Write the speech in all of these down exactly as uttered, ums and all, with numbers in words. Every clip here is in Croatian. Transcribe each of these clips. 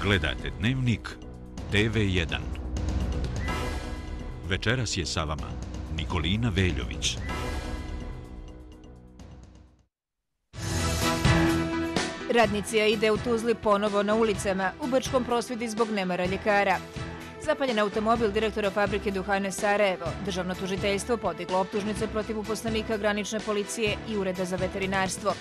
Gledajte Dnevnik T V jedan. Večeras je sa vama Nikolina Veljović. Radnici AIDE u Tuzli ponovo na ulicama, u Brčkom prosvjedi zbog nemara ljekara. Zapaljen automobil direktora fabrike duhana Sarajevo. Državno tužiteljstvo podiglo optužnice protiv uposlenika granične policije i ureda za veterinarstvo.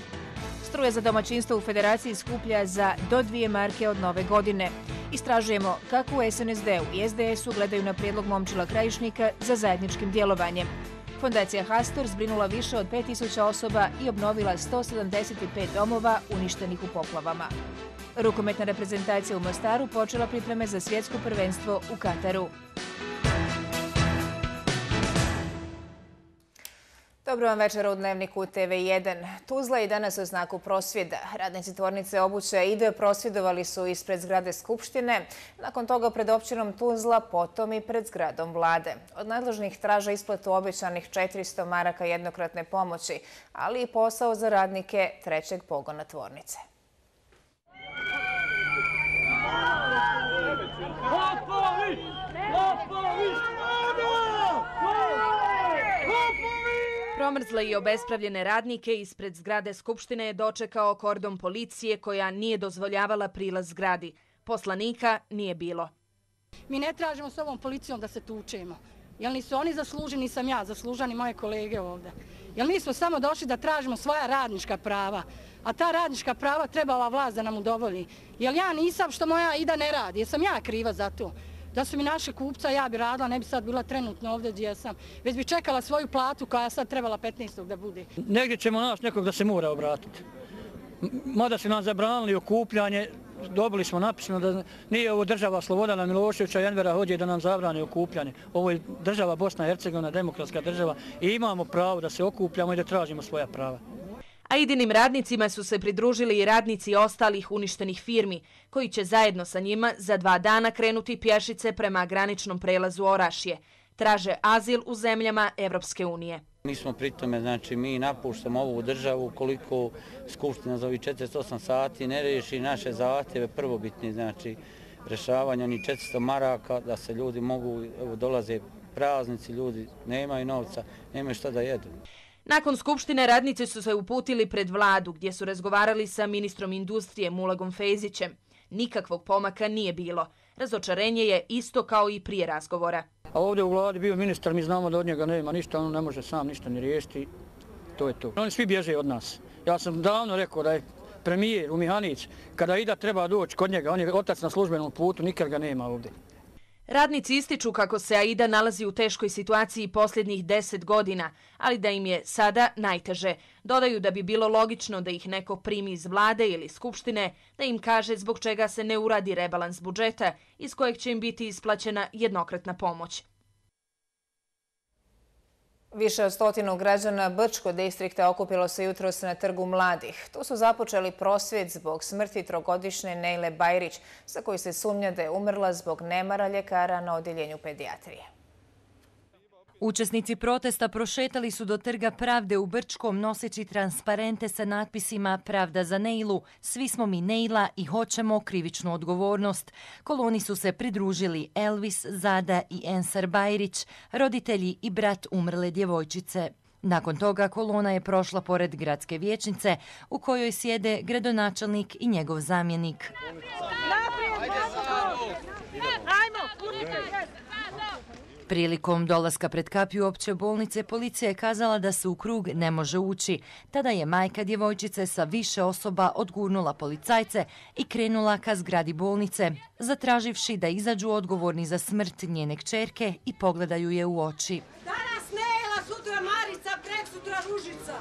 Struja za domaćinstvo u Federaciji skuplja za do dvije marke od nove godine. Istražujemo kako u S N S D-u i S D S-u gledaju na prijedlog Momčila Krajišnika za zajedničkim djelovanjem. Fondacija Hastor zbrinula više od pet tisuća osoba i obnovila sto sedamdeset pet domova uništenih u poplavama. Rukometna reprezentacija u Mostaru počela pripreme za svjetsko prvenstvo u Kataru. Dobro vam večera u Dnevniku T V jedan. Tuzla je danas u znaku prosvjeda. Radnici tvornice obuće AIDE prosvjedovali su ispred zgrade Skupštine, nakon toga pred općinom Tuzla, potom i pred zgradom vlade. Od nadležnih traže isplatu obećanih četiristo maraka jednokratne pomoći, ali i posao za radnike trećeg pogona tvornice. Promrzle i obespravljene radnike ispred zgrade Skupštine je dočekao kordon policije koja nije dozvoljavala prilaz zgradi. Poslanika nije bilo. Mi ne tražimo s ovom policijom da se tučemo. Jel nisu oni zasluženi, nisam ja, zaslužani moje kolege ovdje. Jel mi smo samo došli da tražimo svoja radnička prava, a ta radnička prava treba ova vlast da nam udovolji. Jel ja nisam što moja AIDA ne radi, jesam ja kriva za to. Da su mi naše kupca, ja bi radila, ne bi sad bila trenutno ovdje gdje sam. Već bi čekala svoju platu koja sad trebala petnaestog da bude. Negdje ćemo naći nekog da se mora obratiti. Mada su nam zabranili okupljanje, dobili smo napisano da nije ovo država Slobodana Miloševića i Envera Hodže da nam zabrane okupljanje. Ovo je država Bosna i Hercegovina, demokratska država i imamo pravo da se okupljamo i da tražimo svoja prava. AIDinim radnicima su se pridružili i radnici ostalih uništenih firmi, koji će zajedno sa njima za dva dana krenuti pješice prema graničnom prelazu Orašje. Traže azil u zemljama Evropske unije. Mi smo pri tome, znači mi napuštamo ovu državu koliko Skupština za ovih četrdeset osam sati ne riješi naše zahtjeve prvobitni, znači rješavanje onih četiristo maraka da se ljudi mogu, evo dolaze praznici, ljudi nemaju novca, nemaju šta da jedu. Nakon Skupštine radnici su se uputili pred vladu gdje su razgovarali sa ministrom industrije Mulagom Fejzićem. Nikakvog pomaka nije bilo. Razočarenje je isto kao i prije razgovora. A ovdje u vladi bio ministar, mi znamo da od njega nema ništa, on ne može sam ništa ni riješiti. To je to. Oni svi bježe od nas. Ja sam davno rekao da je premijer u Mihanić, kada AIDA treba doći kod njega, on je otac na službenom putu, nikad ga nema ovdje. Radnici ističu kako se AIDA nalazi u teškoj situaciji posljednjih deset godina, ali da im je sada najteže. Dodaju da bi bilo logično da ih neko primi iz vlade ili skupštine, da im kaže zbog čega se ne uradi rebalans budžeta iz kojeg će im biti isplaćena jednokratna pomoć. Više od stotinu građana Brčkog distrikta okupilo se jutros na Trgu mladih. Tu su započeli prosvjed zbog smrti trogodišnje Nejle Bajrić, za koju se sumnja da je umrla zbog nemara ljekara na odjeljenju pedijatrije. Učesnici protesta prošetali su do Trga pravde u Brčkom noseći transparente sa natpisima Pravda za Nejlu, svi smo mi Nejla i hoćemo krivičnu odgovornost. Koloni su se pridružili Elvis, Zada i Ensar Bajrić, roditelji i brat umrle djevojčice. Nakon toga kolona je prošla pored gradske vijećnice u kojoj sjede gradonačelnik i njegov zamjenik. Prilikom dolaska pred kapiju opće bolnice policija je kazala da se u krug ne može ući. Tada je majka djevojčice sa više osoba odgurnula policajce i krenula ka zgradi bolnice, zatraživši da izađu odgovorni za smrt njene kćerke i pogledaju je u oči. Danas Nejla, sutra Marica, preksutra Ružica.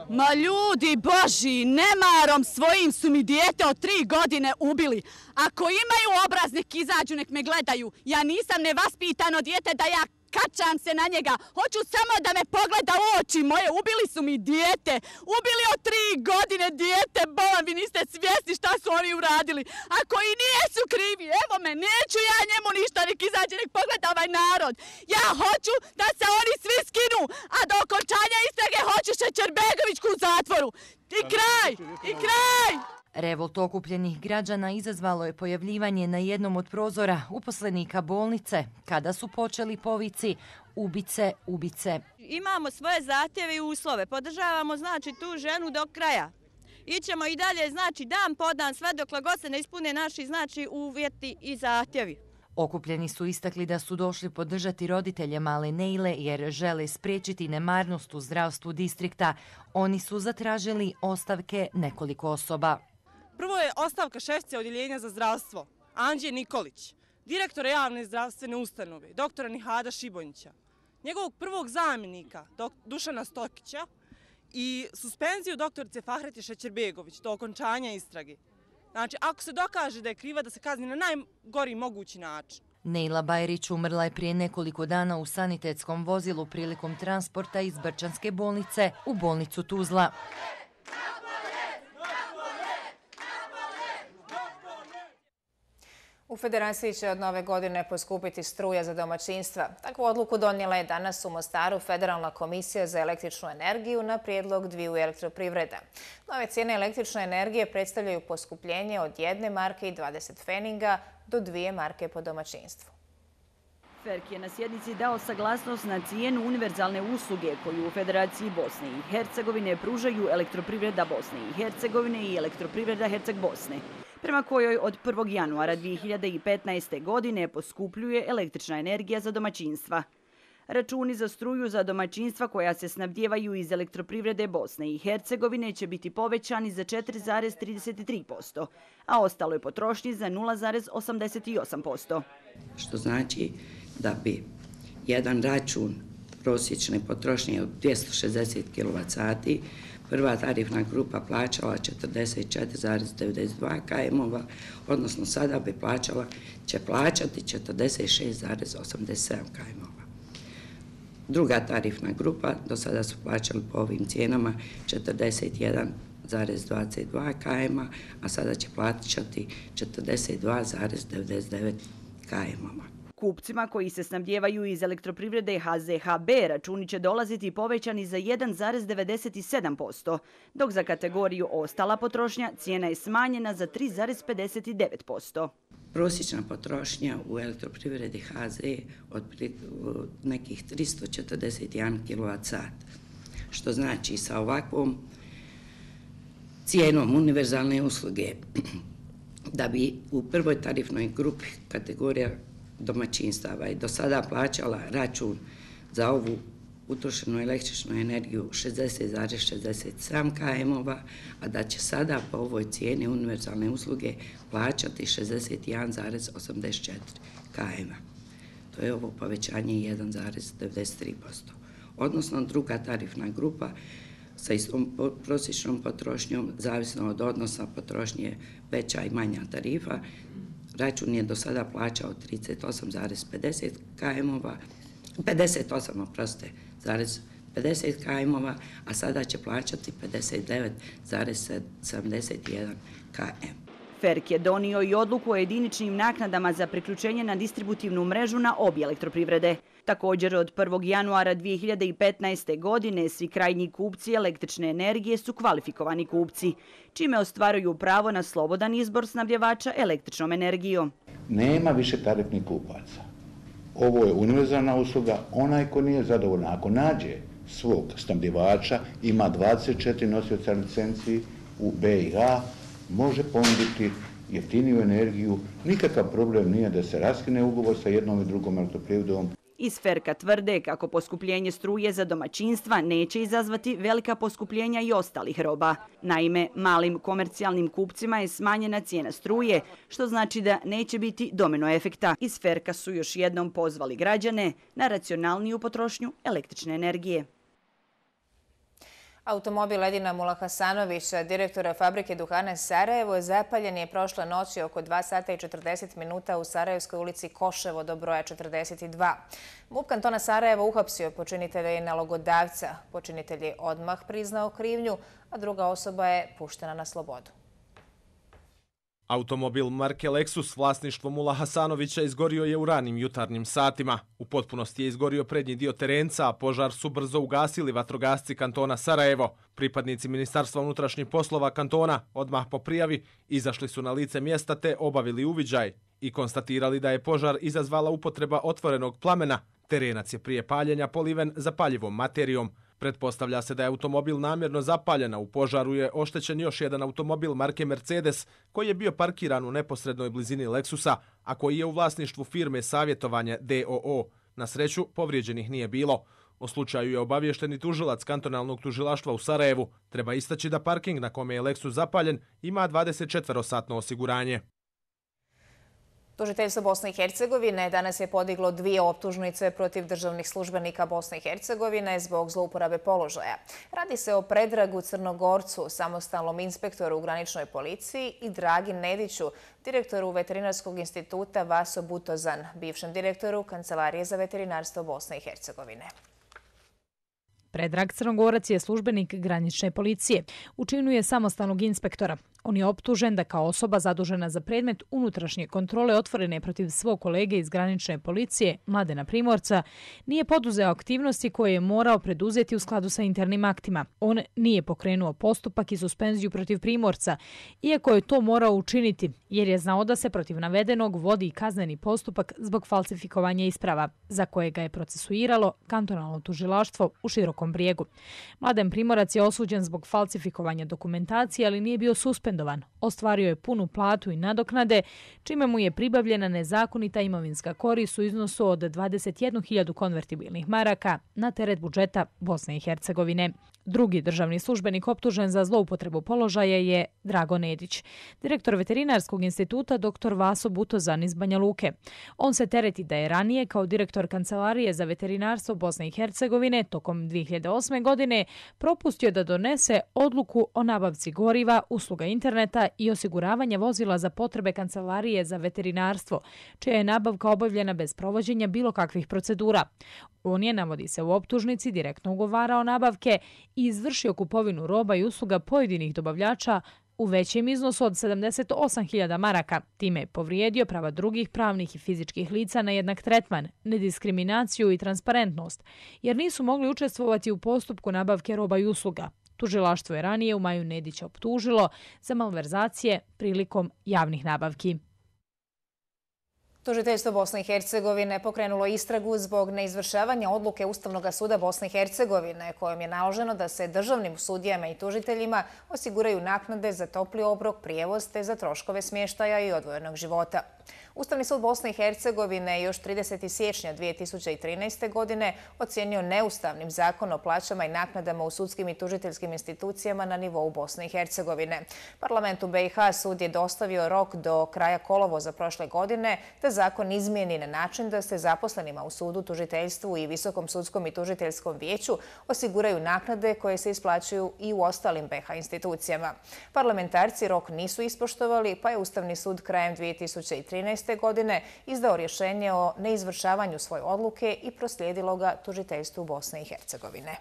Ma ljudi boži, nemarom svojim su mi dijete od tri godine ubili. Ako imaju obraz, nek izađu, nek me gledaju. Ja nisam nevaspitano dijete da ja kačam se na njega. Hoću samo da me pogleda u oči moje. Ubili su mi dijete. Ubili od tri godine dijete. Bolam, vi niste svjesni šta su oni uradili. Ako i nijesu krivi, evo me, neću ja njemu ništa, nek izađe, nek pogleda ovaj narod. Ja hoću da se oni svi skinu, a do okončanja istrage hoću Šećerbegovićku u zatvoru. I kraj, i kraj! Revolt okupljenih građana izazvalo je pojavljivanje na jednom od prozora uposlenika bolnice kada su počeli povici ubice, ubice. Imamo svoje zahtjeve i uslove, podržavamo znači tu ženu do kraja. Ićemo i dalje znači dan po dan sve dokle god se ne ispune naši znači uvjeti i zahtjevi. Okupljeni su istakli da su došli podržati roditelje male Neile jer žele spriječiti nemarnost u zdravstvu distrikta. Oni su zatražili ostavke nekoliko osoba. Prvo je ostavka šefice odjeljenja za zdravstvo, Anđije Nikolić, direktora javne zdravstvene ustanove, doktora Nihada Šibonjića, njegovog prvog zamjenika, Dušana Stokića i suspenziju doktorice Fahreti Šećerbegović do okončanja istrage. Znači, ako se dokaže da je kriva, da se kazni na najgori mogući način. Neila Bajrić umrla je prije nekoliko dana u sanitetskom vozilu prilikom transporta iz Brčanske bolnice u bolnicu Tuzla. U Federaciji će od nove godine poskupiti struja za domaćinstva. Takvu odluku donijela je danas u Mostaru Federalna komisija za električnu energiju na prijedlog dviju elektroprivreda. Nove cijene električne energije predstavljaju poskupljenje od jedne marke i dvadeset pfeninga do dvije marke po domaćinstvu. Ferk je na sjednici dao saglasnost na cijenu univerzalne usluge koju u Federaciji Bosne i Hercegovine pružaju elektroprivreda Bosne i Hercegovine i elektroprivreda Herceg Bosne, prema kojoj od prvog januara dvije hiljade petnaeste. godine poskupljuje električna energija za domaćinstva. Računi za struju za domaćinstva koja se snabdijevaju iz elektroprivrede Bosne i Hercegovine će biti povećani za četiri zarez trideset tri posto, a ostaloj potrošnji za nula zarez osamdeset osam posto. Što znači da bi jedan račun prosječne potrošnje od dvjesto šezdeset kilovat sati prva tarifna grupa plaćala četrdeset četiri zarez devedeset dva km, odnosno sada bi plaćala, će plaćati četrdeset šest zarez osamdeset sedam km. Druga tarifna grupa do sada su plaćali po ovim cijenama četrdeset jedan zarez dvadeset dva km, a sada će plaćati četrdeset dva zarez devedeset devet km. Kupcima koji se snabdijevaju iz elektroprivrede H Z H B računi će dolaziti povećani za jedan zarez devedeset sedam posto, dok za kategoriju ostala potrošnja cijena je smanjena za tri zarez pedeset devet posto. Prosječna potrošnja u elektroprivredi H Z od nekih tristo četrdeset jedan kilovat sat, što znači sa ovakvom cijenom univerzalne usluge da bi u prvoj tarifnoj grupi kategorija domaćinstava i do sada plaćala račun za ovu utrošenu električnu energiju šezdeset zarez šezdeset sedam km, a da će sada po ovoj cijeni univerzalne usluge plaćati šezdeset jedan zarez osamdeset četiri km. To je ovo povećanje jedan zarez devedeset tri posto. Odnosno druga tarifna grupa sa istom prosječnom potrošnjom, zavisno od odnosa potrošnje veća i manja tarifa, račun je do sada plaćao trideset osam zarez pedeset km, pedeset osam, oprostite, zarez pedeset km, a sada će plaćati pedeset devet zarez sedamdeset jedan km. Ferk je donio i odluku o jediničnim naknadama za priključenje na distributivnu mrežu na obje elektroprivrede. Također od prvog januara dvije hiljade petnaeste. godine svi krajnji kupci električne energije su kvalifikovani kupci, čime ostvaruju pravo na slobodan izbor snabdjevača električnom energijom. Nema više tarifnih kupaca. Ovo je univerzalna usluga. Onaj ko nije zadovoljan, ako nađe svog snabdjevača, ima dvadeset četiri nosioca licenciji u B i A, može ponuditi jeftiniju energiju. Nikakav problem nije da se raskine ugovor sa jednom i drugom elektroprivredom. Iz Ferka tvrde kako poskupljenje struje za domaćinstva neće izazvati velika poskupljenja i ostalih roba. Naime, malim komercijalnim kupcima je smanjena cijena struje, što znači da neće biti domino efekta. Iz Ferka su još jednom pozvali građane na racionalniju potrošnju električne energije. Automobil Edina Mulahasanovića, direktora fabrike duhana Sarajevo, zapaljen je prošle noći oko dva sata i četrdeset minuta u Sarajevskoj ulici Koševo do broja četrdeset dva. MUP kantona Sarajevo uhapsio počinitelja i nalogodavca. Počinitelj je odmah priznao krivnju, a druga osoba je puštena na slobodu. Automobil marke Lexus vlasništvo Mula Hasanovića izgorio je u ranim jutarnjim satima. U potpunosti je izgorio prednji dio terenca, a požar su brzo ugasili vatrogasci kantona Sarajevo. Pripadnici Ministarstva unutrašnjih poslova kantona odmah po prijavi izašli su na lice mjesta te obavili uviđaj i konstatirali da je požar izazvala upotreba otvorenog plamena. Terenac je prije paljenja poliven zapaljivom materijom. Pretpostavlja se da je automobil namjerno zapaljen, a u požaru je oštećen još jedan automobil marke Mercedes koji je bio parkiran u neposrednoj blizini Lexusa, a koji je u vlasništvu firme Savjetovanje D O O. Na sreću, povrijeđenih nije bilo. O slučaju je obavješteni tužilac kantonalnog tužilaštva u Sarajevu. Treba istaći da parking na kome je Lexus zapaljen ima dvadesetčetverosatno osiguranje. Tužiteljstvo Bosne i Hercegovine danas je podiglo dvije optužnice protiv državnih službenika Bosne i Hercegovine zbog zlouporabe položaja. Radi se o Predragu Crnogorcu, samostalnom inspektoru u graničnoj policiji, i Dragi Nediću, direktoru Veterinarskog instituta Vaso Butozan, bivšem direktoru Kancelarije za veterinarstvo Bosne i Hercegovine. Predrag Crnogorac je službenik granične policije. U činu je samostalnog inspektora. On je optužen da kao osoba zadužena za predmet unutrašnje kontrole otvorene protiv svog kolege iz granične policije, Mladena Primorca, nije poduzeo aktivnosti koje je morao preduzeti u skladu sa internim aktima. On nije pokrenuo postupak i suspenziju protiv Primorca, iako je to morao učiniti, jer je znao da se protiv navedenog vodi kazneni postupak zbog falsifikovanja isprava, za koje ga je procesuiralo kantonalno tužilaštvo u Širokom Brijegu. Mladen Primorac je osuđen zbog falsifikovanja dokumentacije, ali nije bio suspendovan. Ostvario je punu platu i nadoknade, čime mu je pribavljena nezakonita imovinska korist u iznosu od dvadeset jednu hiljadu konvertibilnih maraka na teret budžeta Bosne i Hercegovine. Drugi državni službenik optužen za zloupotrebu položaja je Drago Nedić, direktor Veterinarskog instituta dr Vaso Butozan iz Banja Luke. On se tereti da je ranije kao direktor Kancelarije za veterinarstvo Bosne i Hercegovine tokom dvije hiljade osme. godine propustio da donese odluku o nabavci goriva, usluga interneta i osiguravanja vozila za potrebe Kancelarije za veterinarstvo, čija je nabavka obavljena bez provođenja bilo kakvih procedura. On je, navodi se u optužnici, direktno ugovarao nabavke i izvršio kupovinu roba i usluga pojedinih dobavljača u većem iznosu od sedamdeset osam hiljada maraka. Time je povrijedio prava drugih pravnih i fizičkih lica na jednak tretman, nediskriminaciju i transparentnost, jer nisu mogli učestvovati u postupku nabavke roba i usluga. Tužilaštvo je ranije u maju Nedića optužilo za malverzacije prilikom javnih nabavki. Tužiteljstvo Bosne i Hercegovine pokrenulo istragu zbog neizvršavanja odluke Ustavnog suda Bosne i Hercegovine, kojom je naloženo da se državnim sudijama i tužiteljima osiguraju naknade za topli obrok, prijevoz te za troškove smještaja i odvojenog života. Ustavni sud Bosne i Hercegovine još tridesetog siječnja dvije tisuće trinaeste. godine ocijenio neustavnim zakon o plaćama i naknadama u sudskim i tužiteljskim institucijama na nivou Bosne i Hercegovine. Parlamentu B i H sud je dostavio rok do kraja kolovoza prošle godine da zakon izmijeni na način da se zaposlenima u sudu, tužiteljstvu i Visokom sudskom i tužiteljskom vijeću osiguraju naknade koje se isplaćuju i u ostalim B i H institucijama. Parlamentarci rok nisu ispoštovali, pa je Ustavni sud krajem dvije tisuće trinaeste. godine izdao rješenje o neizvršavanju svoje odluke i proslijedilo ga tužiteljstvu Bosne i Hercegovine.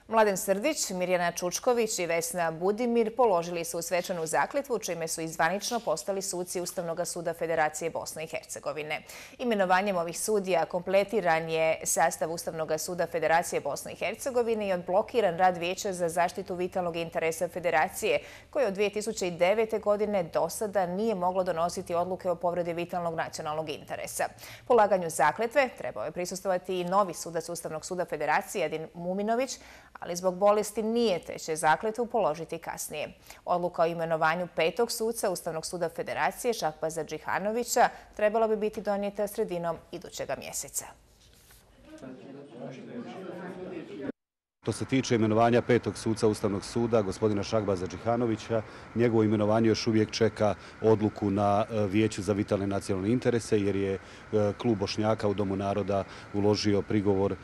Mladen Srdić, Mirjana Čučković i Vesna Budimir položili su svečanu zakletvu, čime su izvanično postali suci Ustavnog suda Federacije Bosne i Hercegovine. Imenovanjem ovih sudija kompletiran je sastav Ustavnog suda Federacije Bosne i Hercegovine i odblokiran rad Vijeća za zaštitu vitalnog interesa Federacije, koje od dvije tisuće devete. godine do sada nije moglo donositi odluke o povredi vitalnog nacionalnog interesa. Polaganju zakletve trebao je prisustvovati i novi sudac Ustavnog suda Federacije, Edin Muminović, ali zbog bolesti nije, te će zakletvu položiti kasnije. Odluka o imenovanju petog suca Ustavnog suda Federacije, Šahbaza Džihanovića, trebala bi biti donijeta sredinom idućega mjeseca. Što se tiče imenovanja petog suca Ustavnog suda, gospodina Šahbaza Džihanovića, njegovo imenovanje još uvijek čeka odluku na Vijeću za vitalne nacionalne interese, jer je klub Bošnjaka u Domu naroda uložio prigovor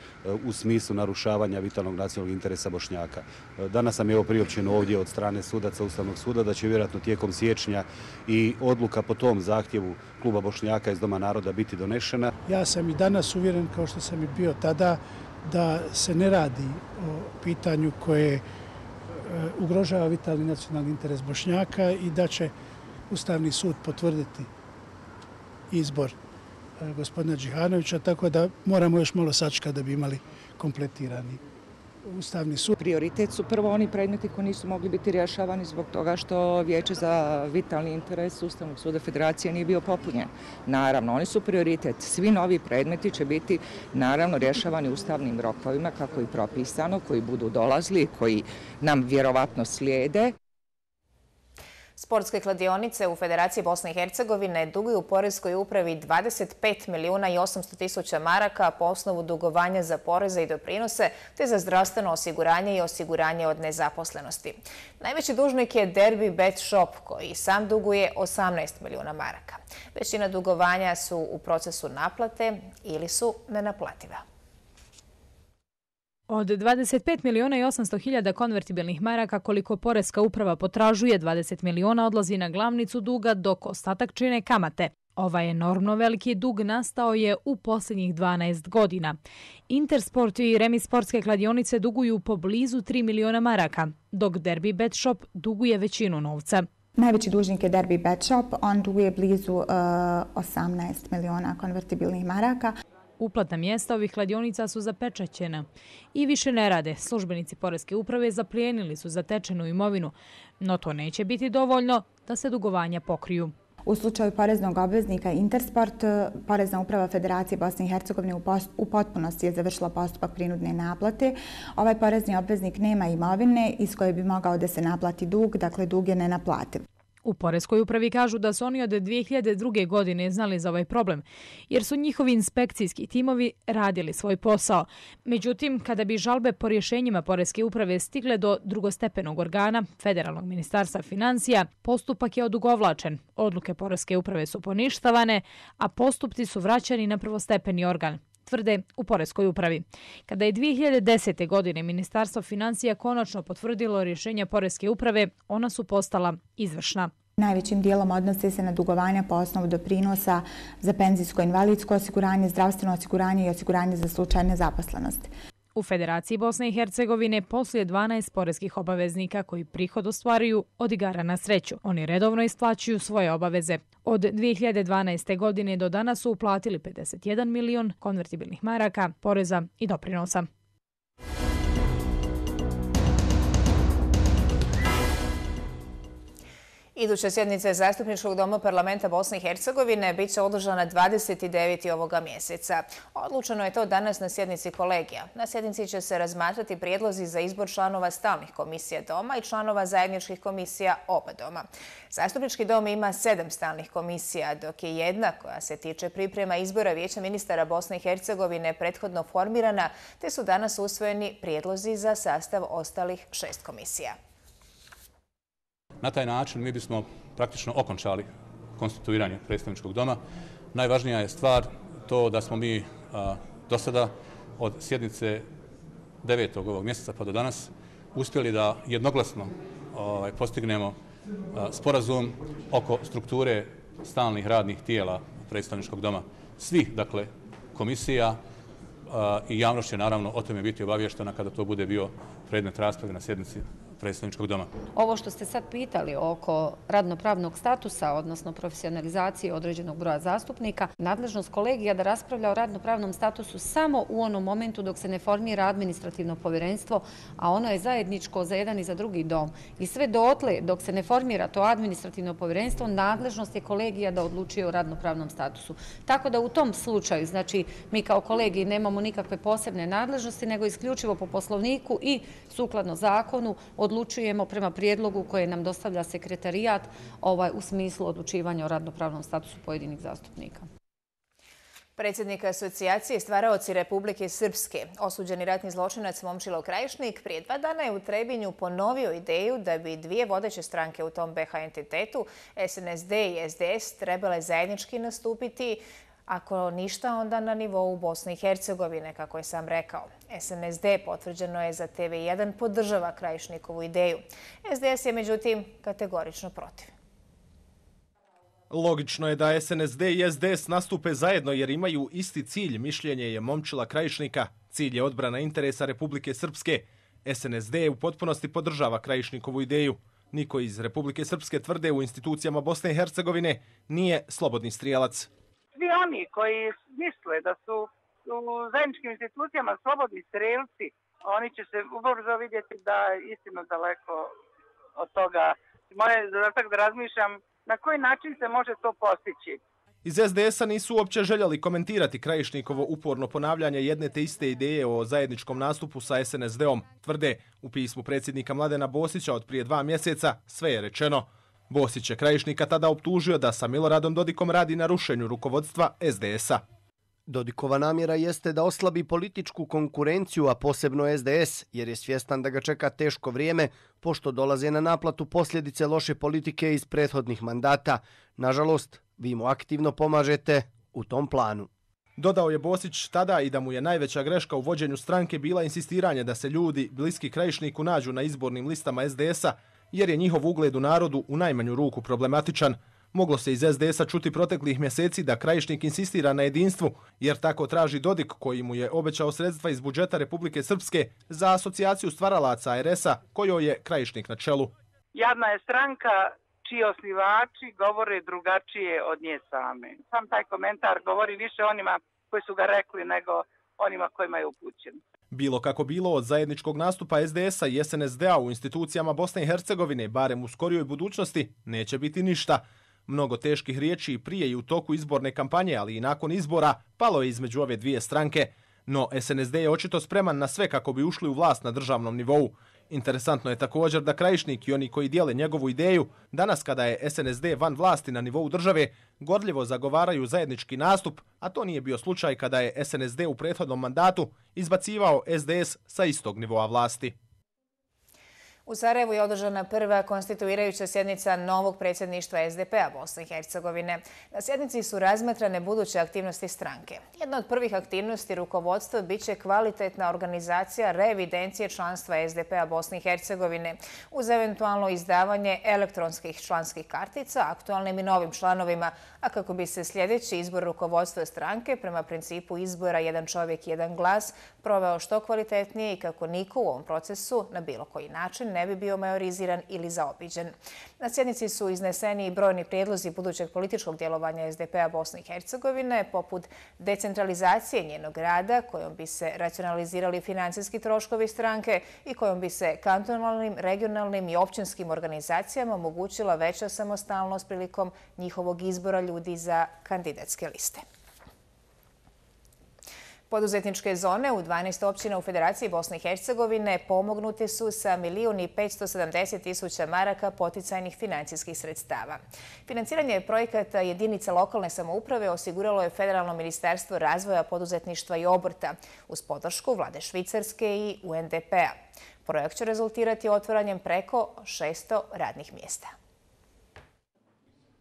u smislu narušavanja vitalnog nacionalnog interesa Bošnjaka. Danas nam je ovo priopćeno ovdje od strane sudaca Ustavnog suda da će vjerojatno tijekom siječnja i odluka po tom zahtjevu kluba Bošnjaka iz Doma naroda biti donešena. Ja sam i danas uvjeren, kao što sam i bio tada, da se ne radi o pitanju koje ugrožava vitalni nacionalni interes Bošnjaka i da će Ustavni sud potvrditi izbor gospodina Đihanovića, tako da moramo još malo sačekati da bi imali kompletirani Ustavni sud. Prioritet su prvo oni predmeti koji nisu mogli biti rješavani zbog toga što Vijeće za vitalni interes Ustavnog suda Federacije nije bio popunjen. Naravno, oni su prioritet. Svi novi predmeti će biti naravno rješavani ustavnim rokovima kako i propisano, koji budu dolazili, koji nam vjerovatno slijede. Sportske kladionice u Federaciji Bosne i Hercegovine duguju poreskoj upravi dvadeset pet milijuna i osamsto tisuća maraka po osnovu dugovanja za poreze i doprinose te za zdravstveno osiguranje i osiguranje od nezaposlenosti. Najveći dužnik je Derby Bet Shop koji sam duguje osamnaest milijuna maraka. Većina dugovanja su u procesu naplate ili su nenaplativa. Od dvadeset pet milijuna i osamsto hiljada konvertibilnih maraka koliko poreska uprava potražuje, dvadeset milijuna odlazi na glavnicu duga, dok ostatak čine kamate. Ovaj enormno veliki dug nastao je u posljednjih dvanaest godina. Intersport i Remis sportske kladionice duguju poblizu tri milijuna maraka, dok Derby Bet Shop duguje većinu novca. Najveći dužnik je Derby Bet Shop, on duguje blizu uh, osamnaest milijuna konvertibilnih maraka. Uplatna mjesta ovih kladionica su zapečaćena i više ne rade. Službenici poreske uprave zaplijenili su zatečenu imovinu, no to neće biti dovoljno da se dugovanja pokriju. U slučaju poreznog obveznika Intersport, Porezna uprava Federacije Bosne i Hercegovine u potpunosti je završila postupak prinudne naplate. Ovaj porezni obveznik nema imovine iz koje bi mogao da se naplati dug, dakle dug je nenaplativ. U poreskoj upravi kažu da su oni od dvije hiljade druge. godine znali za ovaj problem, jer su njihovi inspekcijski timovi radili svoj posao. Međutim, kada bi žalbe po rješenjima poreske uprave stigle do drugostepenog organa, Federalnog ministarstva financija, postupak je odugovlačen. Odluke poreske uprave su poništavane, a postupci su vraćani na prvostepeni organ, tvrde u poreskoj upravi. Kada je dvije hiljade desete. godine Ministarstvo financija konačno potvrdilo rješenja poreske uprave, ona su postala izvršna. Najvećim dijelom odnose se na dugovanja po osnovu doprinosa za penzijsko invalidsko osiguranje, zdravstveno osiguranje i osiguranje za slučaj nezaposlenosti. U Federaciji Bosne i Hercegovine posluje dvanaest poreskih obaveznika koji prihod ostvaruju od igara na sreću. Oni redovno isplaćuju svoje obaveze. Od dvije hiljade dvanaeste. godine do danas su uplatili pedeset jedan milion konvertibilnih maraka, poreza i doprinosa. Iduća sjednica Zastupničkog doma parlamenta Bosne i Hercegovine bit će održana dvadeset devetog ovoga mjeseca. Odlučeno je to danas na sjednici kolegija. Na sjednici će se razmatrati prijedlozi za izbor članova stalnih komisija doma i članova zajedničkih komisija oba doma. Zastupnički dom ima sedam stalnih komisija, dok je jedna koja se tiče priprema izbora Vijeća ministara Bosne i Hercegovine prethodno formirana, te su danas usvojeni prijedlozi za sastav ostalih šest komisija. Na taj način mi bismo praktično okončali konstituiranje predstavničkog doma. Najvažnija je stvar to da smo mi a, do sada od sjednice devetog ovog mjeseca pa do danas uspjeli da jednoglasno ovaj, postignemo a, sporazum oko strukture stalnih radnih tijela predstavničkog doma. Svih, dakle, komisija a, i javnost će naravno o tome biti obavještena kada to bude bio predmet rasprave na sjednici predstavničkog doma. Ovo što ste sad pitali oko radnopravnog statusa, odnosno profesionalizacije određenog broja zastupnika, nadležnost kolegija da raspravlja o radnopravnom statusu samo u onom momentu dok se ne formira administrativno povjerenstvo, a ono je zajedničko za jedan i za drugi dom. I sve dotle dok se ne formira to administrativno povjerenstvo, nadležnost je kolegija da odlučuje o radnopravnom statusu. Tako da u tom slučaju, znači mi kao kolegiji nemamo nikakve posebne nadležnosti, nego isključivo po poslovniku i sukladno zakonu odlučujemo prema prijedlogu koje nam dostavlja sekretarijat ovaj, u smislu odlučivanja o radnopravnom statusu pojedinih zastupnika. Predsjednik asocijacije Stvaraoci Republike Srpske, osuđeni ratni zločinac Momčilo Krajišnik, prije dva dana je u Trebinju ponovio ideju da bi dvije vodeće stranke u tom B H entitetu, S N S D i S D S, trebale zajednički nastupiti, ako ništa, onda na nivou Bosne i Hercegovine, kako je sam rekao. S N S D, potvrđeno je za T V jedan, podržava Krajišnikovu ideju. S D S je međutim kategorično protiv. Logično je da S N S D i S D S nastupe zajedno jer imaju isti cilj, mišljenje je Momčila Krajišnika. Cilj je odbrana interesa Republike Srpske. S N S D u potpunosti podržava Krajišnikovu ideju. Niko iz Republike Srpske tvrde u institucijama Bosne i Hercegovine nije slobodni strijelac. Svi oni koji misle da su u zajedničkim institucijama slobodni strelci, oni će se ubrzo vidjeti da je istino daleko od toga. Moje zadatak da razmišljam na koji način se može to postići. Iz S D S-a nisu uopće željeli komentirati Krajišnikovo uporno ponavljanje jedne te iste ideje o zajedničkom nastupu sa S N S D-om. Tvrde, u pismu predsjednika Mladena Bosića od prije dva mjeseca sve je rečeno. Bosić je Krajišnika tada optužio da sa Miloradom Dodikom radi na rušenju rukovodstva S D S-a. Dodikova namjera jeste da oslabi političku konkurenciju, a posebno S D S, jer je svjestan da ga čeka teško vrijeme, pošto dolaze na naplatu posljedice loše politike iz prethodnih mandata. Nažalost, vi mu aktivno pomažete u tom planu. Dodao je Bosić tada i da mu je najveća greška u vođenju stranke bila insistiranje da se ljudi bliski Krajišniku nađu na izbornim listama S D S-a, jer je njihov ugled u narodu u najmanju ruku problematičan. Moglo se iz S D S-a čuti proteklih mjeseci da Krajišnik insistira na jedinstvu, jer tako traži Dodik koji mu je obećao sredstva iz budžeta Republike Srpske za asocijaciju stvaralaca A R S-a, kojoj je Krajišnik na čelu. Jadna je stranka čiji osnivači govore drugačije od nje same. Sam taj komentar govori više onima koji su ga rekli nego onima kojima je upućen. Bilo kako bilo, od zajedničkog nastupa S D S-a i S N S D-a u institucijama Bosne i Hercegovine, barem u skorijoj budućnosti, neće biti ništa. Mnogo teških riječi i prije i u toku izborne kampanje, ali i nakon izbora, palo je između ove dvije stranke. No S N S D je očito spreman na sve kako bi ušli u vlast na državnom nivou. Interesantno je također da Krajišnik i oni koji dijele njegovu ideju, danas kada je S N S D van vlasti na nivou države, gorljivo zagovaraju zajednički nastup, a to nije bio slučaj kada je S N S D u prethodnom mandatu izbacivao S D S sa istog nivoa vlasti. U Sarajevu je održana prva konstituirajuća sjednica novog predsjedništva S D P-a Bosne i Hercegovine. Na sjednici su razmatrane buduće aktivnosti stranke. Jedna od prvih aktivnosti rukovodstva biće kvalitetna organizacija reevidencije članstva S D P-a Bosne i Hercegovine uz eventualno izdavanje elektronskih članskih kartica aktualnim i novim članovima, a kako bi se sljedeći izbor rukovodstva stranke prema principu izbora jedan čovjek, jedan glas proveo što kvalitetnije i kako niko u ovom procesu na bilo koji način ne bi bio majoriziran ili zaobiđen. Na sjednici su izneseni i brojni prijedlozi budućeg političkog djelovanja S D P-a Bosne i Hercegovine, poput decentralizacije njenog rada, kojom bi se racionalizirali financijski troškovi stranke i kojom bi se kantonalnim, regionalnim i općinskim organizacijama omogućila veća samostalnost prilikom njihovog izbora ljudi za kandidatske liste. Poduzetničke zone u dvanaest općina u Federaciji Bosne i Hercegovine pomognute su sa milijun i petsto sedamdeset tisuća maraka poticajnih financijskih sredstava. Financiranje projekata jedinica lokalne samouprave osiguralo je Federalno ministarstvo razvoja, poduzetništva i obrta uz podršku vlade Švicarske i U N D P-a. Projekt će rezultirati otvaranjem preko šesto radnih mjesta.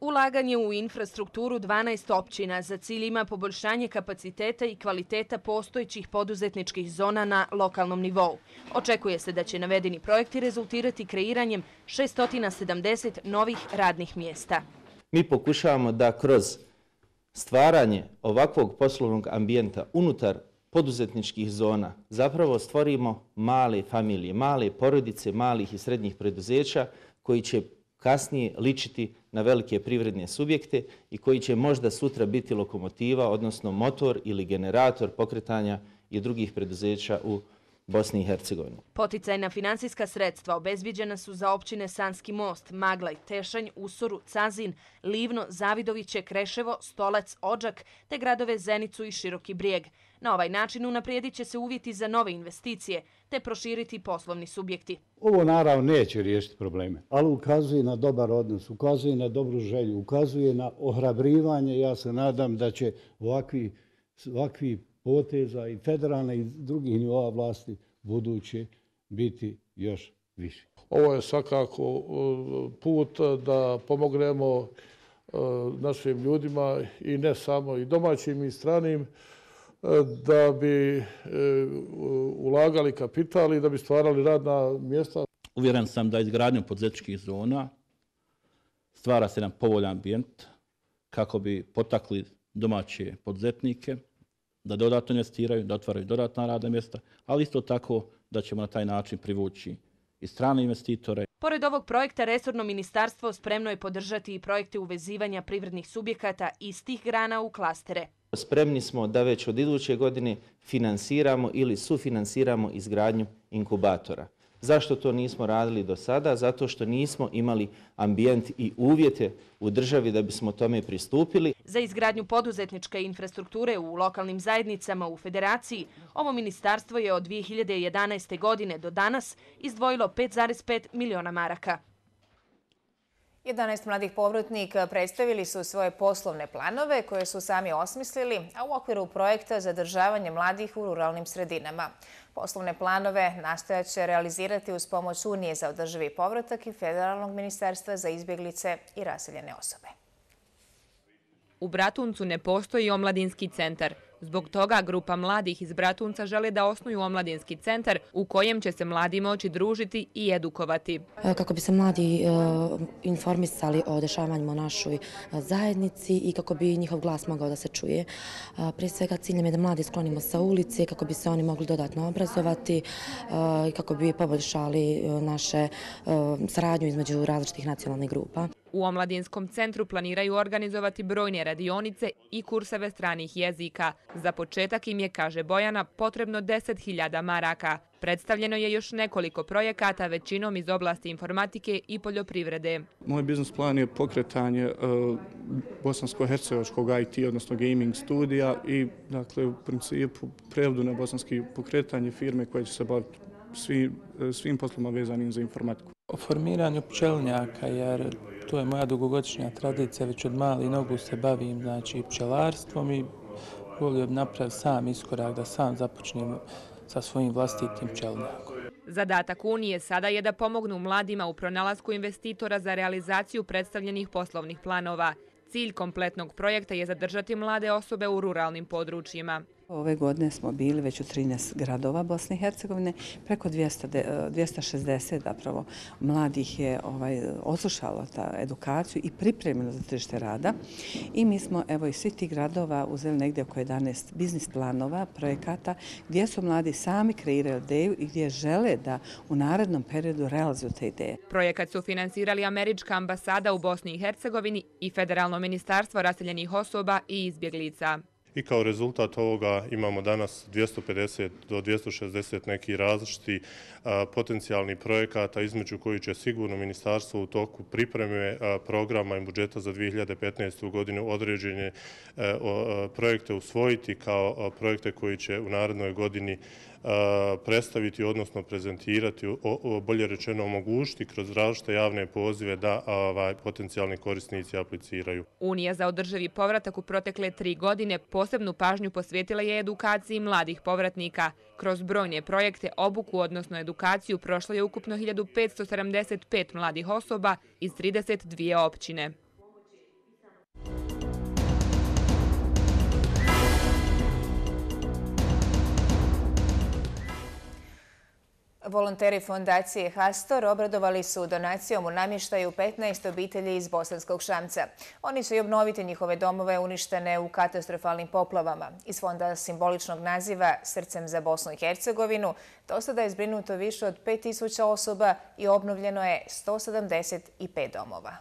Ulaganje u infrastrukturu dvanaest općina za cilj ima poboljšanje kapaciteta i kvaliteta postojećih poduzetničkih zona na lokalnom nivou. Očekuje se da će navedeni projekti rezultirati kreiranjem šesto sedamdeset novih radnih mjesta. Mi pokušavamo da kroz stvaranje ovakvog poslovnog ambijenta unutar poduzetničkih zona zapravo stvorimo male familije, male porodice, malih i srednjih preduzeća koji će kasnije ličiti na velike privredne subjekte i koji će možda sutra biti lokomotiva, odnosno motor ili generator pokretanja i drugih preduzeća u Bosni i Hercegovini. Poticajna finansijska sredstva obezbiđena su za općine Sanski most, Maglaj, Tešanj, Usoru, Cazin, Livno, Zavidoviće, Kreševo, Stolac, Odžak te gradove Zenicu i Široki Brijeg. Na ovaj način unaprijedit će se uvjeti za nove investicije te proširiti poslovni subjekti. Ovo naravno neće riješiti probleme, ali ukazuje na dobar odnos, ukazuje na dobru želju, ukazuje na ohrabrivanje. Ja se nadam da će ovakvi, ovakvi poteza i federalne i drugih nivoa vlasti buduće biti još više. Ovo je svakako put da pomognemo našim ljudima i ne samo i domaćim i stranim, da bi ulagali kapital i da bi stvarali radna mjesta. Uvjeren sam da izgradnjom poduzetničkih zona stvara se jedan povoljan ambijent kako bi potakli domaće poduzetnike da dodatno investiraju, da otvaraju dodatna radna mjesta, ali isto tako da ćemo na taj način privući i strane investitore. Pored ovog projekta, resorno ministarstvo spremno je podržati i projekte uvezivanja privrednih subjekata iz tih grana u klastere. Spremni smo da već od iduće godine finansiramo ili sufinansiramo izgradnju inkubatora. Zašto to nismo radili do sada? Zato što nismo imali ambijent i uvjete u državi da bismo tome pristupili. Za izgradnju poduzetničke infrastrukture u lokalnim zajednicama u Federaciji, ovo ministarstvo je od dvije hiljade jedanaeste. godine do danas izdvojilo pet zarez pet miliona maraka. jedanaest mladih povratnika predstavili su svoje poslovne planove koje su sami osmislili, a u okviru projekta zadržavanje mladih u ruralnim sredinama. Poslovne planove nastojat će realizirati uz pomoć Unije za održivi povratak i Federalnog ministarstva za izbjeglice i raseljene osobe. U Bratuncu ne postoji omladinski centar. Zbog toga grupa mladih iz Bratunca žele da osnuju omladinski centar u kojem će se mladi moći družiti i edukovati. Kako bi se mladi informisali o dešavanjima u našoj zajednici i kako bi njihov glas mogao da se čuje. Prije svega ciljem je da mladi sklonimo sa ulice, kako bi se oni mogli dodatno obrazovati i kako bi poboljšali naše saradnju između različitih nacionalnih grupa. U omladinskom centru planiraju organizovati brojne radionice i kurseve stranih jezika. Za početak im je, kaže Bojana, potrebno deset hiljada maraka. Predstavljeno je još nekoliko projekata, većinom iz oblasti informatike i poljoprivrede. Moj biznis plan je pokretanje uh, bosansko-hercegovačkog I T, odnosno gaming studija i dakle, u principu prevodu na bosanski pokretanje firme koje će se baviti svi, svim posloma vezanim za informatiku. O formiranju pčelnjaka, jer to je moja dugogodišnja tradicija, već od malih nogu se bavim znači, pčelarstvom i volio bi napraviti sam iskorak da sam započnem sa svojim vlastitim pčelnjakom. Zadatak Unije sada je da pomognu mladima u pronalasku investitora za realizaciju predstavljenih poslovnih planova. Cilj kompletnog projekta je zadržati mlade osobe u ruralnim područjima. Ove godine smo bili već u trinaest gradova Bosne i Hercegovine, preko dvjesto šezdeset zapravo mladih je ovaj, odslušalo ta edukaciju i pripremilo za tržište rada. I mi smo evo iz svih tih gradova uzeli negdje oko jedanaest biznis planova, projekata gdje su mladi sami kreirali ideju i gdje žele da u narednom periodu realizuju te ideje. Projekat su finansirali Američka ambasada u Bosni i Hercegovini i Federalno ministarstvo raseljenih osoba i izbjeglica. I kao rezultat ovoga imamo danas dvjesto pedeset do dvjesto šezdeset neki različiti a, potencijalni projekata između koji će sigurno ministarstvo u toku pripreme a, programa i budžeta za dvije hiljade petnaestu. godinu određene a, o, projekte usvojiti kao a, projekte koji će u narednoj godini a, predstaviti, odnosno prezentirati, o, o, bolje rečeno omogućiti kroz različite javne pozive da a, ovaj, potencijalni korisnici apliciraju. Unija za održivi povratak u protekle tri godine posebnu pažnju posvetila je edukaciji mladih povratnika. Kroz brojne projekte, obuku, odnosno edukaciju, prošlo je ukupno hiljadu petsto sedamdeset pet mladih osoba iz trideset dvije općine. Volonteri fondacije Hastor obradovali su donacijom u namještaju petnaest obitelji iz Bosanskog Šamca. Oni će i obnoviti njihove domove uništene u katastrofalnim poplavama. Iz fonda simboličnog naziva Srcem za Bosnu i Hercegovinu do sada je zbrinuto više od pet tisuća osoba i obnovljeno je sto sedamdeset pet domova.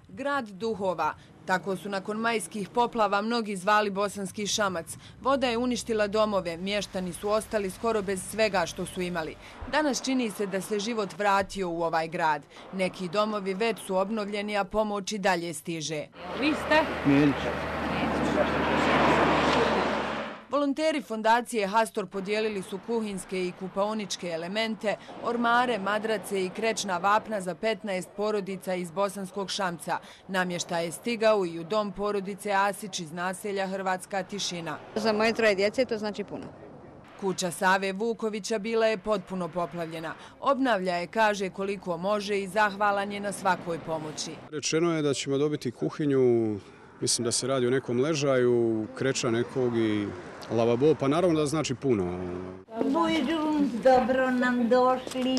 Grad duhova. Tako su nakon majskih poplava mnogi zvali Bosanski Šamac. Voda je uništila domove, mještani su ostali skoro bez svega što su imali. Danas čini se da se život vratio u ovaj grad. Neki domovi već su obnovljeni, a pomoć i dalje stiže. Vi ste? Milić. Volonteri fondacije Hastor podijelili su kuhinske i kupaoničke elemente, ormare, madrace i krečna vapna za petnaest porodica iz Bosanskog Šamca. Namještaj je stigao i u dom porodice Asić iz naselja Hrvatska Tišina. Za moje troje djece to znači puno. Kuća Save Vukovića bila je potpuno poplavljena. Obnavlja je, kaže koliko može i zahvalan je na svakoj pomoći. Rečeno je da ćemo dobiti kuhinju, mislim da se radi o nekom ležaju, kreča nekog i lavabo, pa naravno da znači puno. Buđum, dobro nam došli.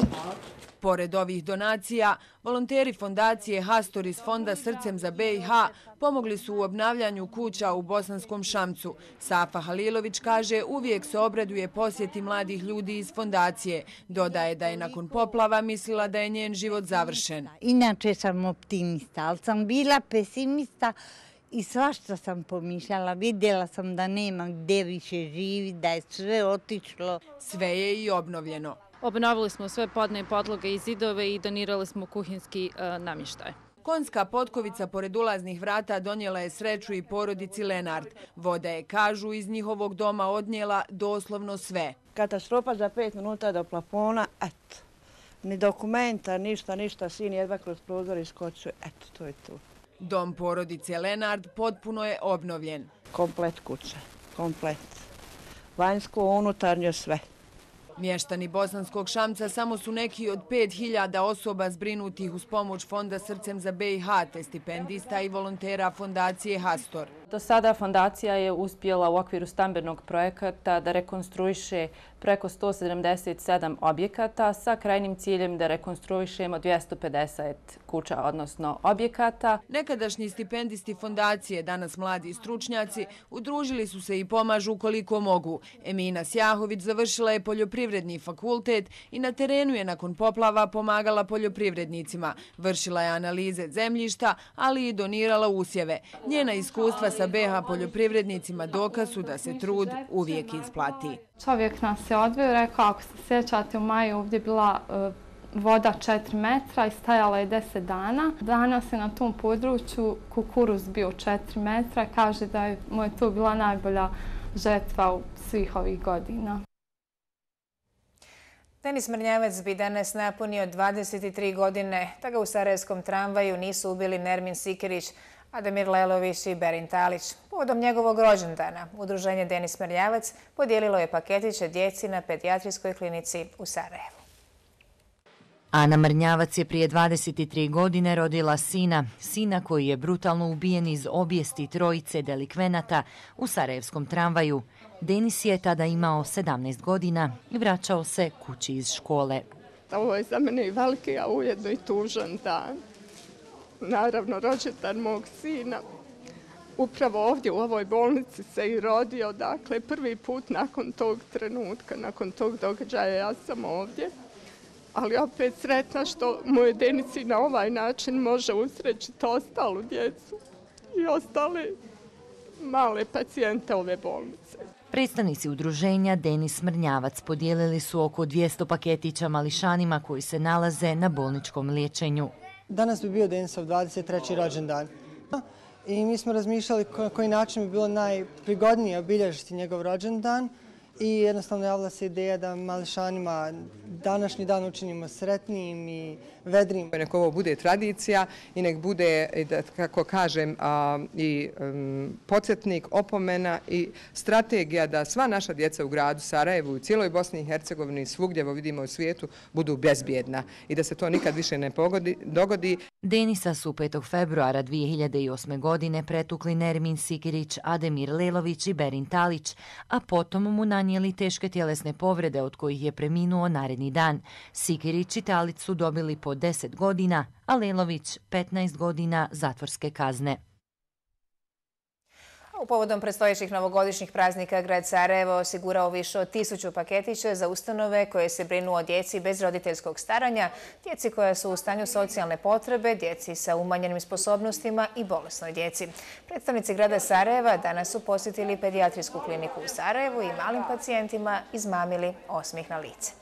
Pored ovih donacija, volonteri fondacije Hastor iz Fonda Srcem za B i H pomogli su u obnavljanju kuća u Bosanskom Šamcu. Safa Halilović kaže uvijek se obraduje posjeti mladih ljudi iz fondacije. Dodaje da je nakon poplava mislila da je njen život završen. Inače sam optimista, ali sam bila pesimista i svašta sam pomišljala. Vidjela sam da nema gdje više živi, da je sve otišlo. Sve je i obnovljeno. Obnovili smo sve podne i podloge i zidove i donirali smo kuhinski e, namještaj. Konjska potkovica pored ulaznih vrata donijela je sreću i porodici Lenard. Voda je, kažu, iz njihovog doma odnijela doslovno sve. Katastrofa za pet minuta do plafona, eto. Ni dokumenta, ništa, ništa, sin jedva kroz prozor iskočuje, eto, to je to. Dom porodice Lenard potpuno je obnovljen. Komplet kuće, komplet. Vanjsko, unutarnje, sve. Mještani Bosanskog Šamca samo su neki od pet hiljada osoba zbrinutih uz pomoć Fonda Srcem za B i H, te stipendista i volontera fondacije Hastor. Do sada fondacija je uspjela u okviru stambenog projekata da rekonstruiše preko sto sedamdeset sedam objekata sa krajnim ciljem da rekonstruišemo dvjesto pedeset kuća, odnosno objekata. Nekadašnji stipendisti fondacije, danas mladi stručnjaci, udružili su se i pomažu koliko mogu. Emina Sjahović završila je poljoprivredni fakultet i na terenu je nakon poplava pomagala poljoprivrednicima. Vršila je analize zemljišta, ali i donirala usjeve. Njena iskustva sa B i H poljoprivrednicima dokaz su da se trud uvijek isplati. Čovjek nas je odveo, rekao, ako se sjećate, u maju ovdje bila voda četiri metra i stajala je deset dana. Danas je na tom području kukuruz bio četiri metra. Kaže da mu je to bila najbolja žetva u svih ovih godina. Denis Mrnjavac bi danas napunio dvadeset tri godine, da ga u sarajevskom tramvaju nisu ubili Nermin Sikirić, Ademir Lelović i Berin Talić. Povodom njegovog rođendana, udruženje Denis Mrnjavac podijelilo je paketiće djeci na pedijatrijskoj klinici u Sarajevu. Ana Mrnjavac je prije dvadeset tri godine rodila sina, sina koji je brutalno ubijen iz obijesti trojice delikvenata u sarajevskom tramvaju. Denis je tada imao sedamnaest godina i vraćao se kući iz škole. Ovo je za mene i veliki, a ujedno i tužan dan. Naravno, rođendan mog sina. Upravo ovdje u ovoj bolnici se i rodio, dakle, prvi put nakon tog trenutka, nakon tog događaja ja sam ovdje. Ali opet sretna što moj Denis i na ovaj način može usrećiti ostalu djecu i ostale male pacijente ove bolnice. Predstavnici udruženja Denis Mrnjavac podijelili su oko dvjesto paketića mališanima koji se nalaze na bolničkom liječenju. Danas bi bio Denisov dvadeset treći rođendan i mi smo razmišljali na koji način bi bilo najprigodnije obilježiti njegov rođendan i jednostavno javila se ideja da mališanima današnji dan učinimo sretnijim i vedrim. Nek ovo bude tradicija i nek bude, kako kažem, i podsjetnik, opomena i strategija da sva naša djeca u gradu Sarajevu, u cijeloj Bosni i Hercegovini, svugdje vidimo u svijetu, budu bezbjedna i da se to nikad više ne dogodi. Denisa su petog februara dvije hiljade osme. godine pretukli Nermin Sikirić, Ademir Lelović i Berin Talić, a potom mu nanijeli teške tjelesne povrede od kojih je preminuo naredni dan. Sikirić i Talić su dobili po deset godina, a Lelović petnaest godina zatvorske kazne. U povodom predstojećih novogodišnjih praznika grad Sarajevo osigurao više od tisuću paketića za ustanove koje se brinu o djeci bez roditeljskog staranja, djeci koja su u stanju socijalne potrebe, djeci sa umanjenim sposobnostima i bolesnoj djeci. Predstavnici grada Sarajeva danas su posjetili pedijatrijsku kliniku u Sarajevu i malim pacijentima izmamili osmijeh na lice.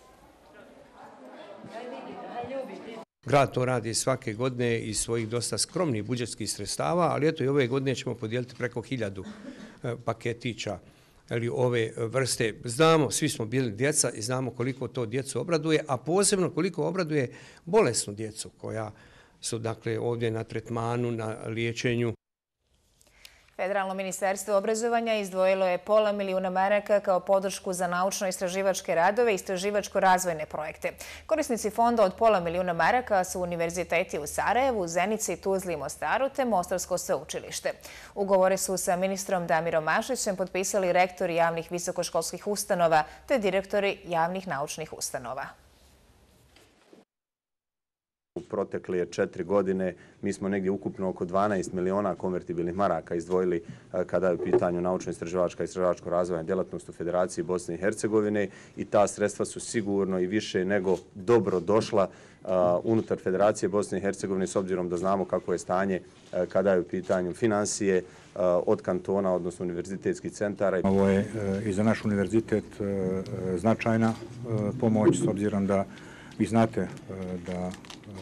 Grad to radi svake godine iz svojih dosta skromnih budžetskih sredstava, ali eto i ove godine ćemo podijeliti preko hiljadu paketića ili ove vrste. Znamo, svi smo bili djeca i znamo koliko to djecu obraduje, a posebno koliko obraduje bolesnu djecu koja su dakle ovdje na tretmanu, na liječenju. Federalno ministarstvo obrazovanja izdvojilo je pola milijuna maraka kao podršku za naučno-istraživačke radove i istraživačko-razvojne projekte. Korisnici fonda od pola milijuna maraka su univerziteti u Sarajevu, Zenici, Tuzli i Mostaru te Mostarsko sveučilište. Ugovore su sa ministrom Damirom Mašićem potpisali rektori javnih visokoškolskih ustanova te direktori javnih naučnih ustanova. U protekle četiri godine mi smo negdje ukupno oko dvanaest miliona konvertibilnih maraka izdvojili kada je u pitanju naučno-istraživačka i istraživačko razvojna djelatnost u Federaciji Bosne i Hercegovine i ta sredstva su sigurno i više nego dobro došla unutar Federacije Bosne i Hercegovine s obzirom da znamo kako je stanje kada je u pitanju financije od kantona, odnosno univerzitetskih centara. Ovo je i za naš univerzitet značajna pomoć s obzirom da vi znate da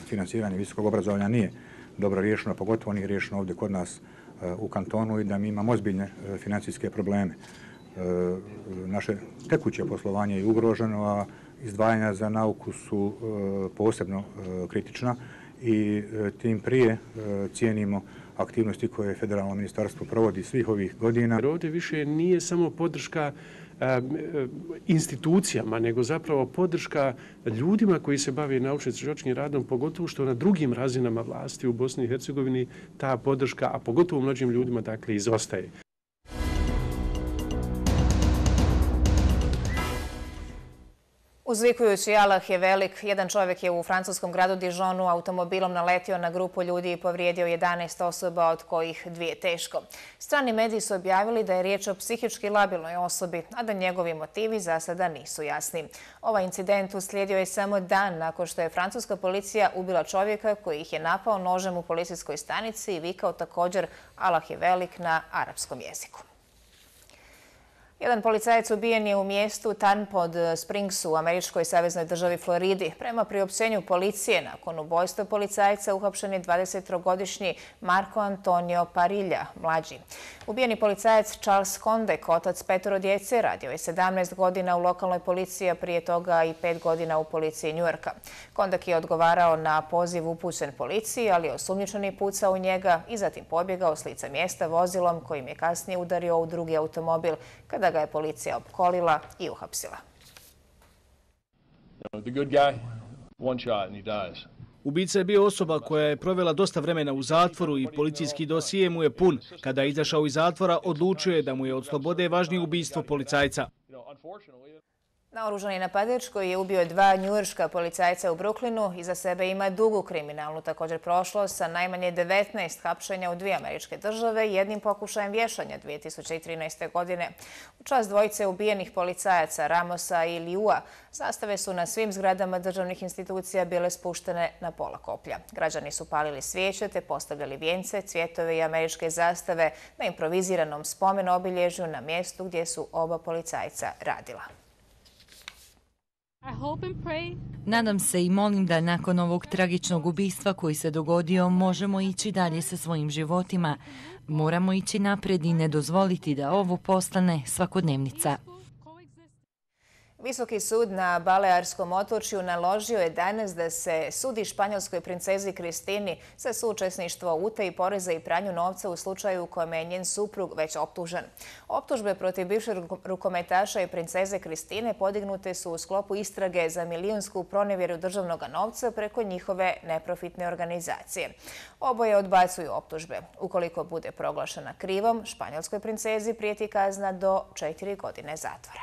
finansiranje visokog obrazovanja nije dobro riješeno, pogotovo nije riješeno ovdje kod nas u kantonu i da mi imamo ozbiljne financijske probleme. Naše tekuće poslovanje je ugroženo, a izdvajanja za nauku su posebno kritična i tim prije cijenimo aktivnosti koje federalno ministarstvo provodi svih ovih godina. Ovdje više nije samo podrška institucijama, nego zapravo podrška ljudima koji se bave naučno-istraživačkim radom, pogotovo što na drugim razinama vlasti u Bosni i Hercegovini ta podrška, a pogotovo mlađim ljudima, dakle, izostaje. Uzvikujući Allah je velik, jedan čovjek je u francuskom gradu Dijonu automobilom naletio na grupu ljudi i povrijedio jedanaest osoba, od kojih dvije teško. Strani mediji su objavili da je riječ o psihički labilnoj osobi, a da njegovi motivi za sada nisu jasni. Ovaj incident uslijedio je samo dan nakon što je francuska policija ubila čovjeka koji ih je napao nožem u policijskoj stanici i vikao također Allah je velik na arapskom jeziku. Jedan policajac ubijen je u mjestu Tanpod Springsu u američkoj saveznoj državi Floridi. Prema priopćenju policije, nakon ubojstva policajca uhapšen je dvadesettrogodišnji Marko Antonio Parilja, mlađi. Ubijeni policajac Charles Kondek, otac petoro djece, radio je sedamnaest godina u lokalnoj policiji, a prije toga i pet godina u policiji Njujorka. Kondek je odgovarao na poziv upućen policiji, ali je osumnjičeni pucao u njega i zatim pobjegao s lica mjesta vozilom kojim je kasnije udario u drugi automobil kada ga je policija opkolila i uhapsila. Ubica je bio osoba koja je provela dosta vremena u zatvoru i policijski dosije mu je pun. Kada je izašao iz zatvora, odlučio je da mu je od slobode važnije ubistvo policajca. Naoružani napadač koji je ubio dva njujorška policajca u Brooklynu iza sebe ima dugu kriminalnu također prošlost sa najmanje devetnaest hapšenja u dvije američke države i jednim pokušajem vješanja dvije tisuće trinaeste. godine. U čast dvojice ubijenih policajaca Ramosa i Liua zastave su na svim zgradama državnih institucija bile spuštene na pola koplja. Građani su palili svijeće te postavljali vijence, cvjetove i američke zastave na improviziranom spomen obilježju na mjestu gdje su oba policajca radila. Nadam se i molim da nakon ovog tragičnog ubistva koji se dogodio možemo ići dalje sa svojim životima. Moramo ići naprijed i ne dozvoliti da ovo postane svakodnevnica. Visoki sud na Balearskom otočju naložio je danas da se sudi španjolskoj princezi Kristini za suučesništvo u utaji poreza i pranju novca u slučaju u kojem je njen suprug već optužen. Optužbe protiv bivšeg rukometaša i princeze Kristine podignute su u sklopu istrage za milijunsku pronevjeru državnog novca preko njihove neprofitne organizacije. Oboje odbacuju optužbe. Ukoliko bude proglašena krivom, španjolskoj princezi prijeti kazna do četiri godine zatvora.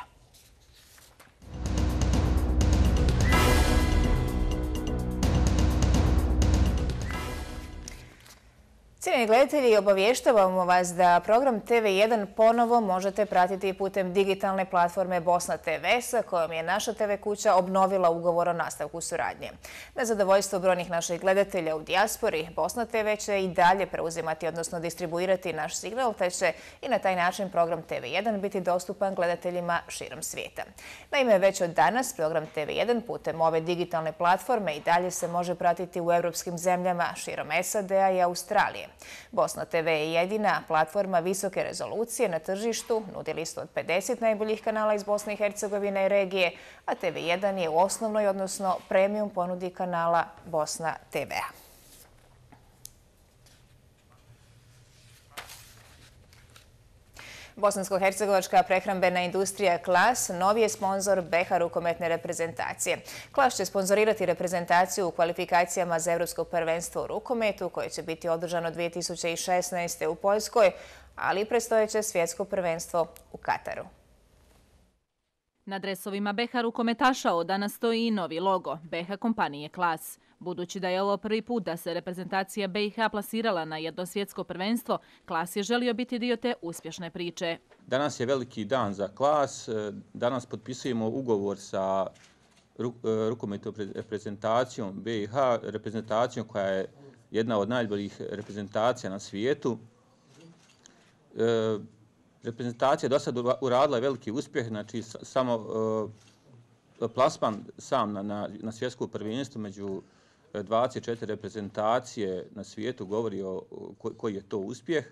Cijenjeni gledatelji, obavještavamo vas da program T V jedan ponovo možete pratiti putem digitalne platforme Bosna T V sa kojom je naša T V kuća obnovila ugovor o nastavku suradnje. Na zadovoljstvo brojnih naših gledatelja u dijaspori, Bosna T V će i dalje preuzimati, odnosno distribuirati naš signal, te će i na taj način program T V jedan biti dostupan gledateljima širom svijeta. Naime, već od danas program T V jedan putem ove digitalne platforme i dalje se može pratiti u evropskim zemljama širom S A D-a i Australije. Bosna T V je jedina platforma visoke rezolucije na tržištu, nudi listu od pedeset najboljih kanala iz Bosne i Hercegovine i regije, a T V jedan je u osnovnoj, odnosno premium ponudi kanala Bosna T V-a. Bosansko-hercegovačka prehrambena industrija Klas novi je sponzor B H rukometne reprezentacije. Klas će sponzorirati reprezentaciju u kvalifikacijama za Evropsko prvenstvo u rukometu koje će biti održano dvije tisuće šesnaeste. u Poljskoj, ali i predstojeće svjetsko prvenstvo u Kataru. Na dresovima B H rukometaša od danas stoji i novi logo B H kompanije Klas. Budući da je ovo prvi put da se reprezentacija B i H plasirala na jedno svjetsko prvenstvo, Klas je želio biti dio te uspješne priče. Danas je veliki dan za Klas. Danas potpisujemo ugovor sa rukometnom reprezentacijom B i H, reprezentacijom koja je jedna od najboljih reprezentacija na svijetu. Reprezentacija do sada uradila veliki uspjeh, znači samo plasman sam na, na, na svjetsko prvenstvo među dvadeset četiri reprezentacije na svijetu govori o koji je to uspjeh.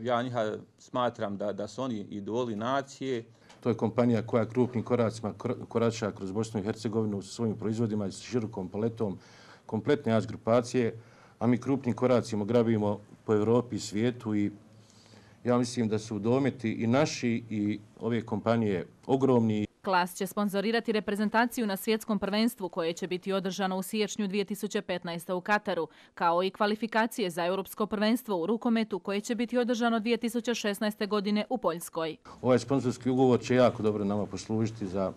Ja njih smatram da, da su oni idoli nacije. To je kompanija koja krupnim koracima korača kroz Bosnu i Hercegovinu sa svojim proizvodima i s širokom paletom kompletne A grupacije, a mi krupnim koracima grabimo po Evropi i svijetu i ja mislim da su dometi i naši i ove kompanije ogromni. Klas će sponzorirati reprezentaciju na svjetskom prvenstvu koje će biti održano u siječnju dvije tisuće petnaeste. u Kataru, kao i kvalifikacije za europsko prvenstvo u rukometu koje će biti održano dvije tisuće šesnaeste. godine u Poljskoj. Ovaj sponzorski ugovor će jako dobro nama poslužiti za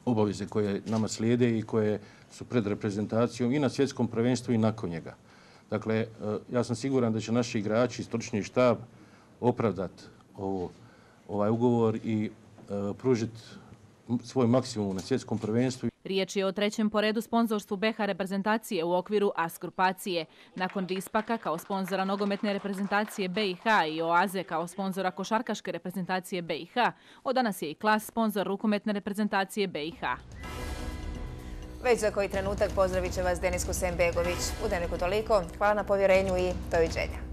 obaveze koje nama slijede i koje su pred reprezentacijom i na svjetskom prvenstvu i nakon njega. Dakle, ja sam siguran da će naši igrači i stručni štab opravdati ovo, ovaj ugovor i uh, pružiti svoj maksimum na svjetskom prvenstvu. Riječ je o trećem po redu sponzorstvu B i H reprezentacije u okviru A grupacije. Nakon Dispaka kao sponzora nogometne reprezentacije B i H i Oaze kao sponzora košarkaške reprezentacije B i H, od danas je i Klas sponzor rukometne reprezentacije B i H. Već za koji trenutak pozdravit će vas Denis Husein Begović. U Dnevniku toliko. Hvala na povjerenju i doviđenja.